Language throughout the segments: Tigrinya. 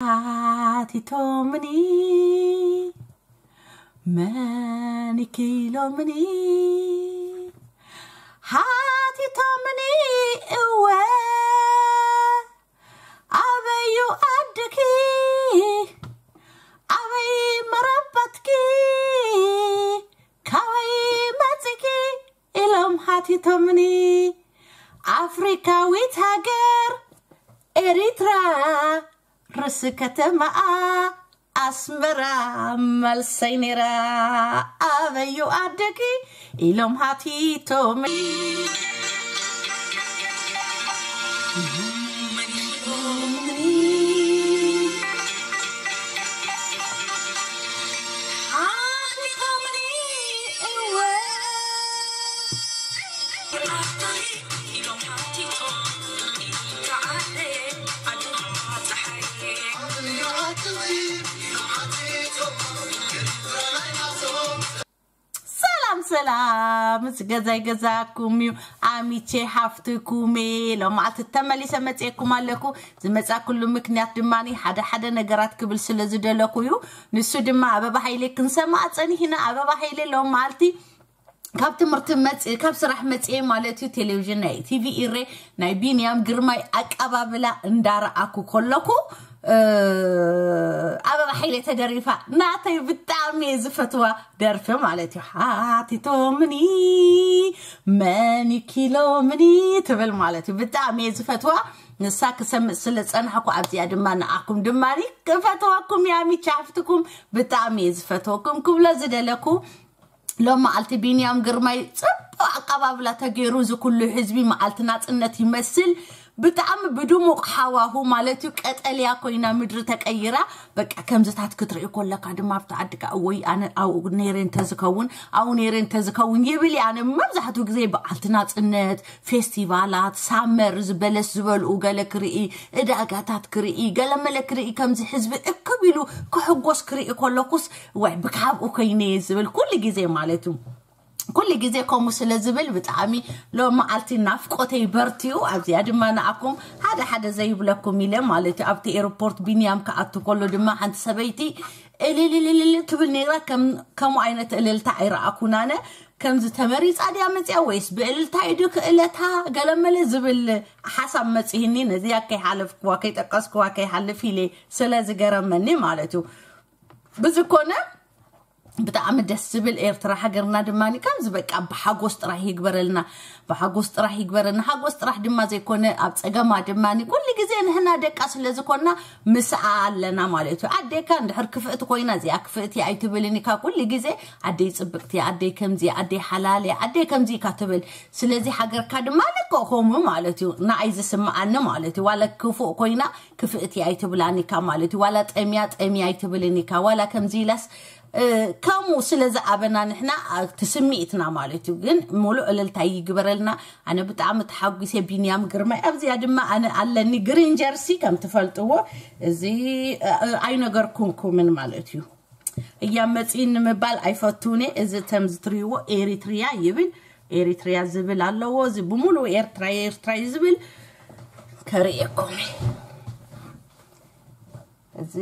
ሓቲቶምኒ መን ኢኪ ኢሎምኒ ሓቲቶምኒ እወ ኣበዩ ዓድኪ ኣበይ መረበትኪ ካበይ መጺኪ ኢሎም ሓቲቶምኒ ኣፍሪካዊት ሃገር ኤሪትራ ርእሲ ከተማኣ ኣስመራ መልሰይ ነይራ ኣበዩ ዓድኪ ኢሎም ሓቲቶምኒ ሰላም ሰላም፣ ምስ ገዛይ ገዛኩም እዩ። ኣሚቼ ሓፍትኩም እየ። ሎማዓልቲ ተመሊሰ መፅኤኩም ኣለኩ። ዝመፃኩሉ ምክንያት ድማ ሓደ ሓደ ነገራት ክብል ስለ ዝደለኩ እዩ። ንሱ ድማ ኣበባ ሃይሌ ክንሰማዕ ፀኒሕና። ኣበባ ሃይሌ ሎማዓልቲ ካብ ትምህርቲ መፅ ካብ ስራሕ መፅኤ ማለት እዩ ቴሌቪዥን ናይ ቲቪ ኢሬ ናይ ቢንያም ግርማይ ኣቀባብላ እንዳረኣኩ ከለኩ ኣበባ ሓይለ ተደሪፋ ናተይ ብጣዕሚ እየ ዝፈትዋ ደርፊ ማለት እዩ። ሓቲቶምኒ መን ኢኪ ኢሎምኒ ትብል ማለት እዩ። ብጣዕሚ እየ ዝፈትዋ። ንሳ ክሰምዕ ስለ ዝፀናሕኩ ኣብዚኣ ድማ ንኣኩም ድማ ክፈትወኩም እያ። ሚቻ ሓፍትኩም ብጣዕሚ እየ ዝፈትወኩም ክብሎ ዝደለኩ ሎም መዓልቲ ቢንያም ግርማይ ጽቡቕ ኣቀባብላ ተገይሩ እዚ ኩሉ ህዝቢ መዓልቲ ናጽነት ይመስል ብጣዕሚ ብድሙቕ ሓዋሁ ማለት እዩ ቀጠልያ ኮይና ምድሪ ተቀይራ በቃ ከምዝታት ክትርኢ ኮለካ ድማ ኣብቲ ዓድካ እወይ ኣነ ኣብኡ ነይረ እንተዝከውን ኣብኡ ነይረ እንተዝከውን ይብል እየ ኣነ መብዛሕትኡ ግዜ በዓልቲ ናጽነት ፌስቲቫላት ሳመር ዝበለስ ዝበልኡ ገለ ክርኢ እዳጋታት ክርኢ ገለመለ ክርኢ ከምዚ ህዝቢ እክብ ኢሉ ክሕጎስ ክርኢ ኮለኩስ ወይ ብካብኡ ኮይነ ዝብል ኩሉ ግዜ ማለት እዩ ኩሉ ግዜ ከምኡ ስለ ዝብል ብጣዕሚ ሎም መዓልቲ ናፍቆተይ በርትዩ ኣብዚኣ ድማ ንኣኩም ሓደ ሓደ ዘይብለኩም ኢለ ማለት እዩ ኣብቲ ኤርፖርት ቢንያም ክኣቱ ከሎ ድማ ሓንቲ ሰበይቲ እልልልልል ትብል ነይራ ከምኡ ዓይነት እልልታ ኣይረኣኩን ኣነ ከምዚ ተመሪፃ ድያ መፅያ ወይስ ብእልልታ እዩ ክእለታ ገለመለ ዝብል ሓሳብ መፅህኒ ነዚያ ከይሓለፍክዋ ከይጠቀስክዋ ከይሓልፍ ኢለ ስለ ዝገረመኒ ማለት እዩ ብዝኮነ ብጣዕሚ ደስ ዝብል ኤርትራ ሃገርና ድማ ከምዚ በቃ ብሓጎስ ጥራሕ ይግበረልና ብሓጎስ ጥራሕ ይግበረልና ሓጎስ ጥራሕ ድማ ዘይኮነ ኣብ ፀገማ ድማ ኩሉ ግዜ ንህና ደቃ ስለ ዝኮና ምስኣ ኣለና ማለት እዩ ኣዴካ እንድሕር ክፍእቲ ኮይና እዚኣ ክፍእቲ ኣይትብልን ኢካ ኩሉ ግዜ ኣደይ ፅብቅቲ ኣደይ ከምዚ ኣደይ ሓላል ኣደይ ከምዚ ኢካ ትብል ስለዚ ሃገርካ ድማ ልክኦ ከምኡ ማለት እዩ ንኣይ ዝስምዓኒ ማለት እዩ ዋላ ክፉእ ኮይና ክፍእቲ ኣይትብላን ኢካ ማለት እዩ ዋላ ጠምያ ጠምያ ኣይትብልን ኢካ ዋላ ከምዚ ኢላስ ከምኡ ስለ ዝኣበና ንሕና እቲ ስምዒትና ማለት እዩ ግን ሙሉእ እልልታ ይግበረልና ኣነ ብጣዕሚ ተሓጒሰ ቢንያም ግርማይ ኣብዚኣ ድማ ኣነ ኣለኒ ግሪን ጀርሲ ከም ትፈልጥዎ እዚ ኣይነገርኩንኩምን ማለት እዩ እያ መፂን ንምባል ኣይፈቱን እዚ ተም ዝትሪዎ ኤሪትሪያ ይብል ኤሪትሪያ ዝብል ኣለዎ እዚ ብሙሉ ኤርትራ ኤርትራ እዩ ዝብል ከርእየኩም እዚ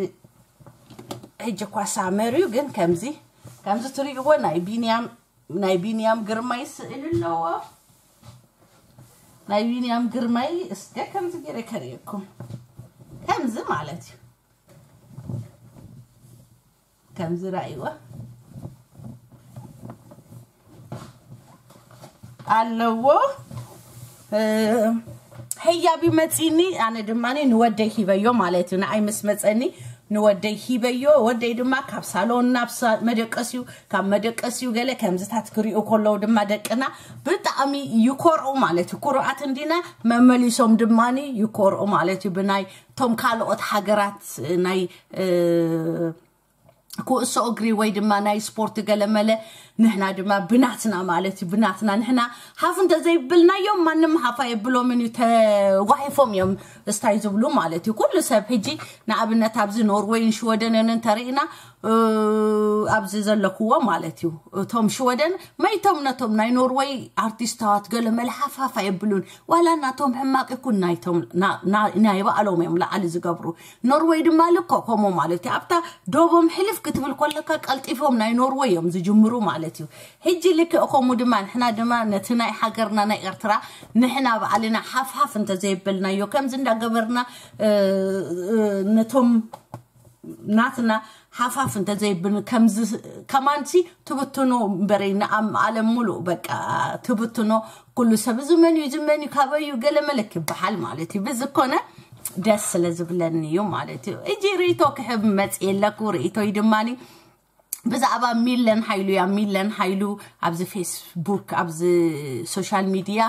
ሕጂ እኳ ሳመር እዩ ግን ከምዚ ከምዚ ትርእይዎ ናይ ቢንያም ናይ ቢንያም ግርማይ ስእል ኣለዎ ናይ ቢንያም ግርማይ እስከ ከምዚ ገይረ ከርእየኩም ከምዚ ማለት እዩ ከምዚ ራእይዎ ኣለዎ ህያብ ይመፂኒ ኣነ ድማ ንወደይ ሂበዮ ማለት እዩ ንኣይ ምስ መፀኒ ንወደይ ሂበዮ ወደይ ድማ ካብ ሳሎን ናብ መደቀስዩ ካብ መደቀስዩ ገለ ከምዝታት ክሪኡ ከለዉ ድማ ደቅና ብጣዕሚ ይኮርኡ ማለት እዩ ኩሩኣት እንዲና መመሊሶም ድማ ይኮርኡ ማለት እዩ ብናይ ቶም ካልኦት ሃገራት ናይ ኩእሶ እግሪ ወይ ድማ ናይ ስፖርት ገለመለ ንሕና ድማ ብናትና ማለት እዩ ብናትና ንሕና ሓፍ እንተዘይብልናዮም ማንም ሓፍ ኣየብሎምን እዩ ተጓሒፎም እዮም እስታይ ዝብሉ ማለት እዩ ኩሉ ሰብ ሕጂ ንኣብነት ኣብዚ ኖርወይን ሽወደንን እንተርኢና ኣብዚ ዘለኩዎ ማለት እዩ እቶም ሽወደን መይቶም ነቶም ናይ ኖርወይ ኣርቲስታት ገለ መልሓፋፍ ኣየብሉን ዋላ ናቶም ሕማቅ ይኩን ናይቶም ናይ ባዕሎም እዮም ላዓሊ ዝገብሩ ኖርወይ ድማ ልኮ ከምኡ ማለት እዩ ኣብታ ዶቦም ሕልፍ ክትብል ኮለካ ቀልጢፎም ናይ ኖርወይ እዮም ዝጅምሩ ማለት እዩ ሕጂ ልክእ ከምኡ ድማ ንሕና ድማ ነቲ ናይ ሃገርና ናይ ኤርትራ ንሕና ባዕልና ሓፍሓፍ እንተዘይበልናዮ ከምዚ እንዳገበርና ነቶም ናትና ሓፋፍ እንተዘይብን ከምዚ ከማንሲ ትብትኖ እምበረይ ንኣም ዓለም ሙሉእ በቃ ትብትኖ ኩሉ ሰብ እዚ መን እዩ እዚ መን እዩ ካበይ እዩ ገለ መለክ ይበሃል ማለት እዩ ብዝኮነ ደስ ስለ ዝብለኒ እዩ ማለት እዩ እጂ ርእቶ ክሕብ መፅእ የለኩ ርእቶይ ድማኒ ብዛዕባ ሚለን ሓይሉ እያ ሚለን ሓይሉ ኣብዚ ፌስቡክ ኣብዚ ሶሻል ሚድያ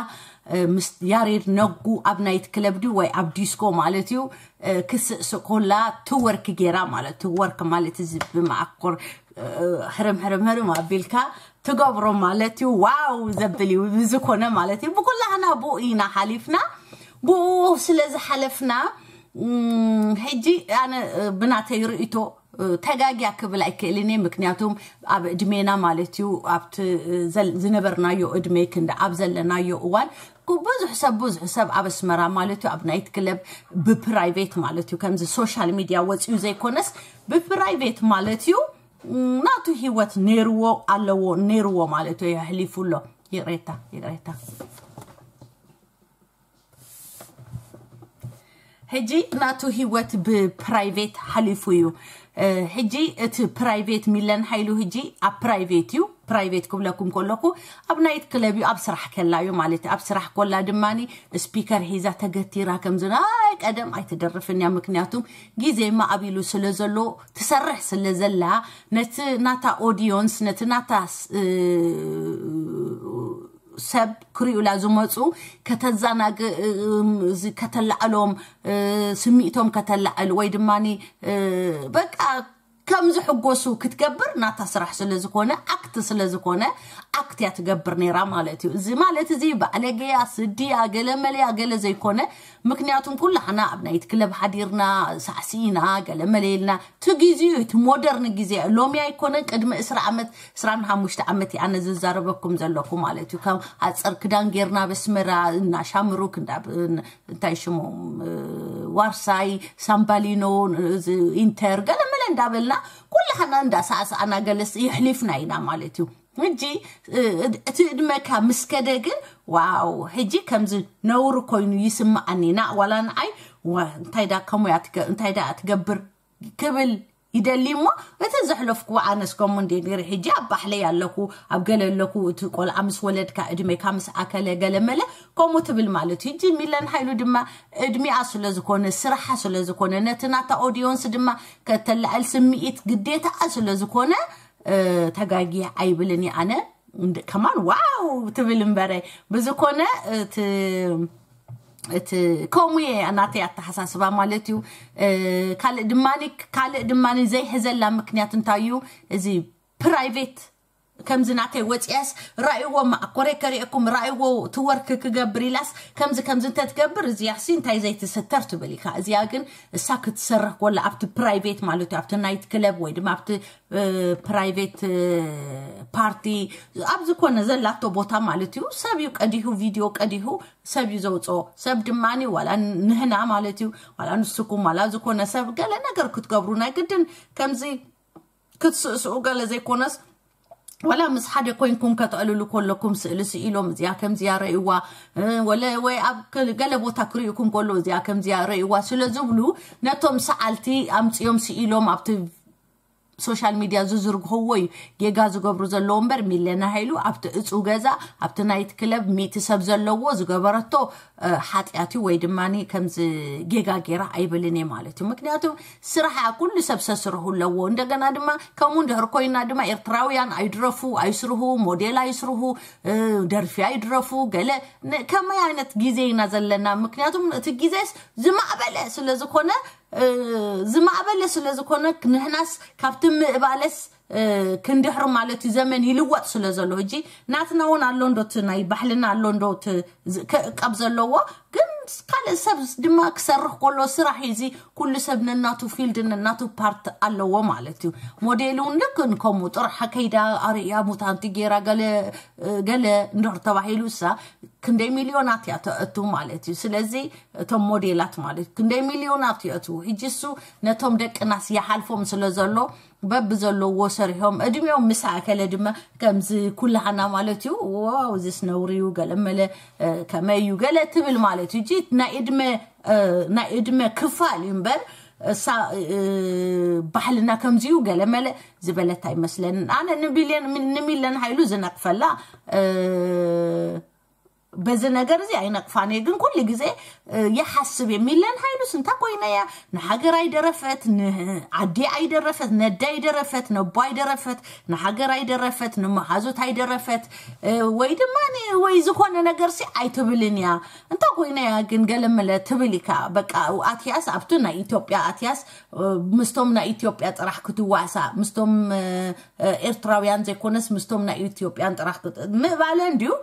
ምስ ያሬድ ነጉ ኣብ ናይት ክለብ ድዩ ወይ ኣብ ዲስኮ ማለት እዩ ክስእስእ ኮላ ትወርክ ጌራ ማለት ትወርክ ማለት እዚ ብመኣኮር ሕርም ሕርም ሕርም ኣቢልካ ትገብሮ ማለት እዩ ዋው ዘብል እዩ ብዝኮነ ማለት እዩ ብኩላህና ብኡ ኢና ሓሊፍና ብኡ ስለ ዝሓለፍና ሕጂ ኣነ ብናተይ ርእቶ ተጋግያ ክብል ኣይክእልን እየ ምክንያቱም ኣብ እድሜና ማለት እዩ ኣብቲ ዝነበርናዮ እድሜ ክንዲ ኣብ ዘለናዮ እዋን ብዙሕ ሰብ ብዙሕ ሰብ ኣብ ኣስመራ ማለት እዩ ኣብ ናይት ክለብ ብፕራይቬት ማለት እዩ ከምዚ ሶሻል ሚድያ ወፂኡ ዘይኮነስ ብፕራይቬት ማለት እዩ ናቱ ህይወት ነይርዎ ኣለዎ ነይርዎ ማለት እዩ የሕሊፉ ኣሎ ይቅሬታ ይቅሬታ ሕጂ ናቱ ህይወት ብፕራይቬት ሓሊፉ እዩ ሕጂ እቲ ፕራይቬት ሚለን ሓይሉ ህጂ ኣብ ፕራይቬት እዩ ፕራይቬት ክብለኩም ከለኩ ኣብ ናይት ክለብ እዩ ኣብ ስራሕ ከላ እዩ ማለት ኣብ ስራሕ ኮላ ድማ ስፒከር ሒዛ ተገቲራ ከምዚ ናይ ቀደም ኣይትደርፍን እያ ምክንያቱም ግዜማ ኣብ ኢሉ ስለ ዘሎ ትሰርሕ ስለ ዘላ ነቲ ናታ ኦዲዮንስ ነቲ ናታ ሰብ ክሪኡላ ዝመፁ ከተዛናግ ከተላዕሎም ስሚእቶም ከተላዕል ወይ ድማ በቃ ከም ዝሕጎሱ ክትገብር ናታ ስራሕ ስለ ዝኾነ ኣክት ስለ ዝኾነ ኣክት እያ ትገብር ነይራ ማለት እዩ እዚ ማለት እዚ ባዕለገያ ስድያ ገለ መለያ ገለ ዘይኮነ ምክንያቱም ኩላሕና ኣብ ናይት ክለብ ሓዲርና ሳዕሲና ገለ መለየልና እቲ ግዜኡ እቲ ሞደርን ግዜ ሎሚ ኣይኮነን ቅድሚ እስራ ዓመት እስራን ሓሙሽተ ዓመት ኣነ ዝዛረበኩም ዘለኩ ማለት እዩ ካብ ኣፀር ክዳን ጌርና በስመራ እናሻምሩክ እንታይ ሽሞም ዋርሳይ ሳምባሊኖ ኢንተር ገለመለ እንዳበልና ኩላህና እንዳሳዕሳዕና ገለስ ይሕሊፍና ኢና ማለት እዩ ሕጂ እቲ እድመካ ምስ ከደ ግን ዋው ሕጂ ከምዚ ነውር ኮይኑ ይስምዓኒ ና ዋላ ንዓይ እንታይ ዳ ከሙያ እንታይ ዳ ትገብር ክብል ይደሊ እሞ እቲ ዘሕለፍኩዎ ኣነስ ከምኡ እንደ ነይረ ሕጂ ኣብ ባሕለይ ኣለኩ ኣብ ገለ ኣለኩ እቲ ቆልዓ ምስ ወለድካ እድሜካ ምስ ኣከለ ገለ መለ ከምኡ ትብል ማለት እዩ ሕጂ ሚለን ሓይሉ ድማ እድሜኣ ስለ ዝኾነ ስራሓ ስለ ዝኾነ ነቲ ናታ ኦዲዮንስ ድማ ከተላዕል ስምዒት ግዴታኣ ስለ ዝኾነ ተጋጊ ኣይብልን እየ ኣነ ከማን ዋው ትብል እምበረ ብዝኮነ እቲ ከምኡ እየ ናተይ ኣተሓሳስባ ማለት እዩ ካልእ ድማ ካልእ ድማ ዘይሕዘላ ምክንያት እንታይ እዩ እዚ ፕራይቬት ከምዚ ናተይ ወፅያስ ራእይዎ ማእኮረ ከሪእኩም ራእይዎ ትወርክ ክገብር ኢላስ ከምዚ ከምዚ እንተትገብር እዚያ ሲ እንታይ ዘይትስተር ትብል ኢካ እዚኣ ግን እሳ ክትሰርሕ ኮላ ኣብቲ ፕራይቬት ማለት እዩ ኣብቲ ናይት ክለብ ወይ ድማ ኣብቲ ፕራይቬት ፓርቲ ኣብ ዝኾነ ዘላቶ ቦታ ማለት እዩ ሰብ እዩ ቀዲሁ ቪድዮ ቀዲሁ ሰብ እዩ ዘውፅኦ ሰብ ድማ ዋላ ንህና ማለት እዩ ዋላ ንስኩም ዋላ ዝኾነ ሰብ ገለ ነገር ክትገብሩ ናይ ግድን ከምዚ ክትስእስኡ ገለ ዘይኮነስ ዋላ ምስ ሓደ ኮይንኩም ከተዕልሉ ከለኩም ስእሊ ስኢሎም እዚኣ ከምዚያ ረእዋ ወለ ወይ ኣብ ገለ ቦታ ክርእዩኩም ከሎ እዚኣ ከምዚያ ረእዋ ስለ ዝብሉ ነቶም ሰዓልቲ ኣምፅኦም ስኢሎም ኣብቲ ሶሻል ሚድያ ዝዝርግህዎ እዩ ጌጋ ዝገብሩ ዘለዎ እምበር ሚለና ሃይሉ ኣብቲ እፁ ገዛ ኣብቲ ናይት ክለብ ሚእቲ ሰብ ዘለዎ ዝገበረቶ ሓጢኣት እዩ ወይ ድማ ከምዚ ጌጋ ጌራ ኣይብልን እየ ማለት እዩ ምክንያቱ ስራሕ ኩሉ ሰብ ሰስርሁ ኣለዎ እንደገና ድማ ከምኡ እንድሕር ኮይና ድማ ኤርትራውያን ኣይድረፉ ኣይስርሁ ሞዴል ኣይስርሁ ደርፊ ኣይድረፉ ገለ ከመይ ዓይነት ግዜ ኢና ዘለና ምክንያቱም እቲ ግዜስ ዝማዕበለ ስለ ዝኾነ ዝማዕበለ ስለ ዝኾነ፣ ንሕናስ ካብቲ ምእባለስ ክንድሕር ማለት እዩ። ዘመን ይልወጥ ስለ ዘሎ፣ ሕጂ ናትና እውን ኣሎ እንዶ፣ እቲ ናይ ባሕልና ኣሎ እንዶ፣ እቲ ክዕቀብ ዘለዎ። ግን ካልእ ሰብ ድማ ክሰርሕ ከሎ፣ ስራሕ እዚ ኩሉ ሰብ ነናቱ ፊልድ፣ ነናቱ ፓርት ኣለዎ ማለት እዩ። ሞዴል እውን ልክ ንከምኡ ጥራሕ ከይዳ ኣርእያ፣ ሙታንቲ ጌራ፣ ገለ ገለ እንድሕር ተባሂሉ፣ እሳ ክንደይ ሚልዮናት እያ ተእቱ ማለት እዩ። ስለዚ እቶም ሞዴላት ማለት ክንደይ ሚልዮናት ይእትዉ። ሕጂ እሱ ነቶም ደቅናስ ይሓልፎም ስለ ዘሎ፣ በብዘለዎ ሰሪሖም፣ እድሜኦም ምስ ኣከለ ድማ ከምዚ ኩላህና ማለት እዩ። ዋው፣ እዚስ ነውሪ እዩ፣ ገለ መለ ከመይ እዩ ገለ ትብል ማለት እዩ። ሕጂ ናይ እድመ ናይ እድመ ክፋል እዩ እምበር፣ እሳ ባሕልና ከምዚ እዩ ገለ መለ ዝበለት ኣይመስለንን። ኣነ ንቢልየን ንሚለን ሃይሉ ዝነቅፈላ በዚ ነገር እዚ ኣይነቅፋን እየ። ግን ኩሉ ግዜ ይሓስብ እየ፣ ሚለን ሃይሉስ እንታ ኮይና እያ ንሃገር ኣይደረፈት፣ ንዓዲ ኣይደረፈት፣ ነዳ ኣይደረፈት፣ ነቦ ኣይደረፈት፣ ንሃገር ኣይደረፈት፣ ንመሓዙት ኣይደረፈት፣ ወይ ድማ ወይ ዝኾነ ነገር ሲ ኣይትብልን እያ። እንታ ኮይና እያ ግን ገለመለ ትብል ኢካ። በቃ ኣትያስ ኣብቲ ናይ ኢትዮጵያ ኣትያስ ምስቶም ናይ ኢትዮጵያ ጥራሕ ክትዋሳ፣ ምስቶም ኤርትራውያን ዘይኮነስ ምስቶም ናይ ኢትዮጵያን ጥራሕ ምእባለ እንድዩ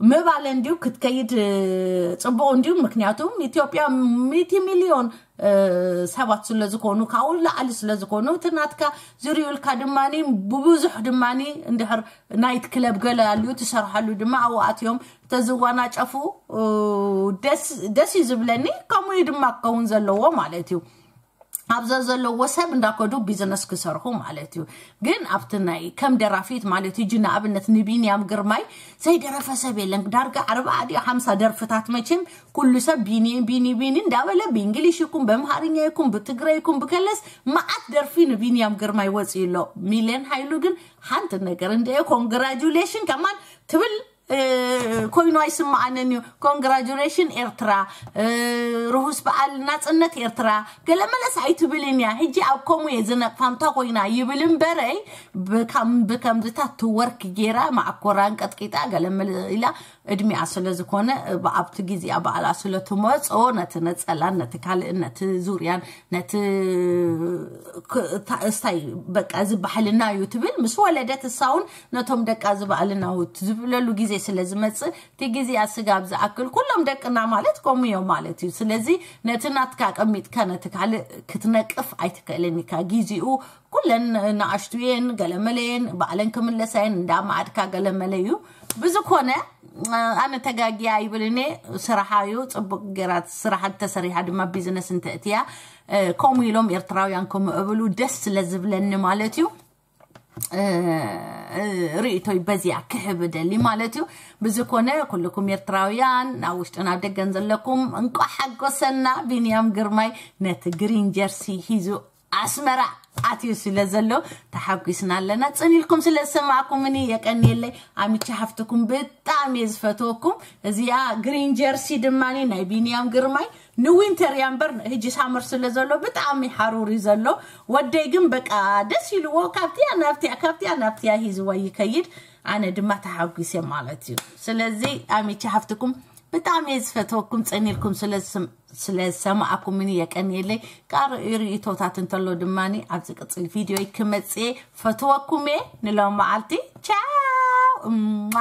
ምእባለ እንድዩ ክትከይድ ጽቡቕ እንድዩ። ምክንያቱም ኢትዮጵያ ሚእቲ ሚልዮን ሰባት ስለ ዝኾኑ፣ ካብኡ ላዕሊ ስለ ዝኾኑ፣ እቲ ናትካ ዝርእዩልካ ድማ ብብዙሕ ድማ እንድሕር ናይት ክለብ ገለ ኣልዩ ትሰርሓሉ ድማ ኣብኡ ኣትዮም ተዝዋናጨፉ ደስ እዩ ዝብለኒ። ከምኡ እዩ ድማ ክኸውን ዘለዎ ማለት እዩ። ኣብዛ ዘለዎ ሰብ እንዳከዱ ቢዝነስ ክሰርሑ ማለት እዩ። ግን ኣብቲ ናይ ከም ደራፊት ማለት እዩ፣ ንኣብነት ንቢንያም ግርማይ ዘይደረፈ ሰብ የለን። ዳርጋ ኣርባዓ ድዩ ሓምሳ ደርፍታት መቸም ኩሉ ሰብ ቢኒ ቢኒ ቢኒ እንዳበለ ብእንግሊሽ ይኩን ብኣምሃርኛ ይኩን ብትግረ ይኩን ብከለስ መዓት ደርፊ ንቢንያም ግርማይ ወፂኡ ኣሎ። ሚልዮን ሃይሉ ግን ሓንቲ ነገር እንደ ኮንግራጁሌሽን ከማን ትብል ኮይኑ ኣይስምዓንን እዩ። ኮንግራጁሌሽን ኤርትራ፣ ርሁስ በዓል ናጽነት ኤርትራ። ገለ መለስ ኣይትብልን እያ። ሕጂ ኣብ ከምኡ እየ ዝነቅፋ እንታ ኮይና ይብል እምበረይ፣ ብከም ብከምዝታት ትወርክ ጌራ ማዕኮራ እንቀጥቂጣ ገለ መለ ኢላ እድሜኣ ስለ ዝኾነ ብኣብቲ ግዜኣ በዓላ ስለ ትመጾ ነቲ ነጸላን ነቲ ካልእን ነቲ ዙርያን ነቲ እስታይ በቃ እዚ ባህልና እዩ ትብል። ምስ ወለደት እሳውን ነቶም ደቃ እዚ ባህልና እዩ ዝብለሉ ግዜ ስለ ዝመጽእ፣ እቲ ግዜኣ ስጋብ ዝኣክል ኩሎም ደቅና ማለት ከምኡ እዮም ማለት እዩ። ስለዚ ነቲ ናትካ ቀሚጥካ ነቲ ካልእ ክትነቅፍ ኣይትክእልን ኢካ። ግዜኡ ኩለን ንኣሽቱ እየን፣ ገለመለ እየን፣ ባዕለን ክምለሳ እየን፣ እንዳ ማዕድካ ገለመለ እዩ። ብዝኮነ ኣነ ተጋጊያ ይብልኒ። ስራሓ እዩ ጽቡቅ ገራት ስራሓ ተሰሪሓ ድማ ቢዝነስ እንተእትያ ከምኡ ኢሎም ኤርትራውያን ከምኡ እብሉ ደስ ስለ ዝብለኒ ማለት እዩ። ርእቶይ በዚያ ክሕብ ደሊ ማለት እዩ። ብዝኮነ ኩልኩም ኤርትራውያን ናብ ውሽጥን ኣብ ደገን ዘለኩም እንቋ ሓጎሰና። ቢንያም ግርማይ ነቲ ግሪን ጀርሲ ሂዙ ኣስመራ ኣትዩ ስለ ዘሎ ተሓጒስና ኣለና። ጽኒልኩም ስለ ዝሰማዕኩምኒ የቀንየለይ። ኣሚቻ ሓፍትኩም ብጣዕሚ እየ ዝፈትወኩም። እዚኣ ግሪን ጀርሲ ድማ ናይ ቢንያም ግርማይ ንዊንተር እያ እምበር ሕጂ ሳመር ስለ ዘሎ ብጣዕሚ ሓሩር እዩ ዘሎ። ወደይ ግን በቃ ደስ ኢልዎ ካብቲያ ናብቲያ ካብቲያ ናብቲያ ሂዝዋ ይከይድ። ኣነ ድማ ተሓጒሰ ማለት እዩ። ስለዚ ኣሚቻ ሓፍትኩም ብጣዕሚ እየ ዝፈትወኩም። ጸኒልኩም ስለ ዝሰማዕኩምኒ የቀንየለይ። ቃር ርእቶታት እንተሎ ድማ ኣብ ዝቅጽል ቪድዮ ክመጽእ ፈትወኩም እየ። ንሎም መዓልቲ ቻው እማ